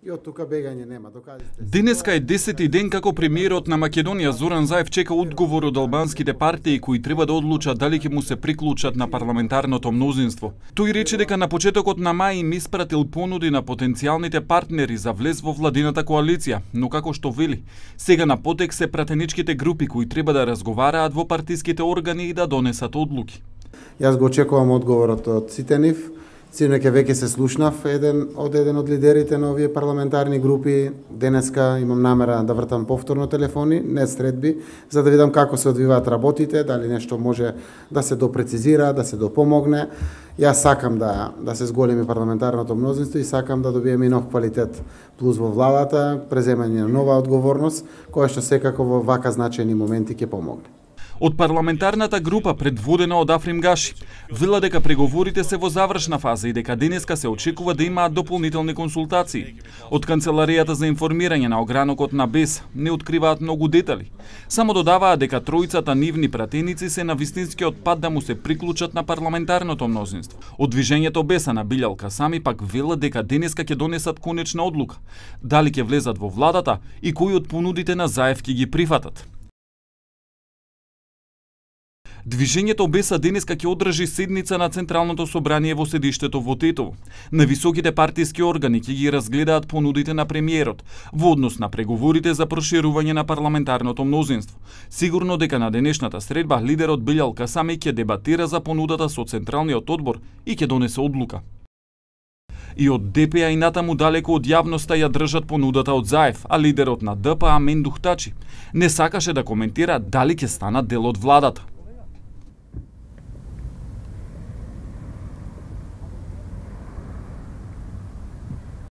И од тука бегање нема. Докажете. Денеска е 10-ти ден како премиерот на Македонија Зоран Заев чека одговор од албанските партии кои треба да одлучат дали ќе му се приклучат на парламентарното мнозинство. Тој рече дека на почетокот на мај им испратил понуди на потенцијалните партнери за влез во владината коалиција, но како што вели, сега на потек се пратеничките групи кои треба да разговараат во партиските органи и да донесат одлуки. Јас го очекувам одговорот од сите нив. Синоќа веќе се слушнав еден од лидерите на овие парламентарни групи. Денеска имам намера да вртам повторно телефони, не средби, за да видам како се одвиваат работите, дали нешто може да се допрецизира, да се допомогне. Јас сакам да се зголеми парламентарното мнозинство и сакам да добиеме и нов квалитет плюс во владата, преземање на нова одговорност, која што секако во вака значајни моменти ќе помогне. Од парламентарната група предводена од Африм Гаши вела дека преговорите се во завршна фаза и дека денеска се очекува да имаат дополнителни консултации. Од Канцеларијата за информирање на огранокот на БЕС не откриваат многу детали. Само додаваат дека тројцата нивни пратеници се на вистинскиот пат да му се приклучат на парламентарното мнозинство. Од движењето БЕС на Билјал Касами пак велат дека денеска ќе донесат конечна одлука, дали ќе влезат во владата и кои од понудите на Заев ќе ги прифатат. Движењето БЕС денеска ќе одржи седница на Централното собрание во седиштето во Тетово. На високите партиски органи ќе ги разгледаат понудите на премиерот во однос на преговорите за проширување на парламентарното мнозинство. Сигурно дека на денешната средба лидерот Билјал Касами ќе дебатира за понудата со Централниот одбор и ќе донесе одлука. И од ДПА и натаму далеко од јавноста ја држат понудата од Заев, а лидерот на ДПА Мендух Тачи не сакаше да коментира дали ќе станат дел од владата.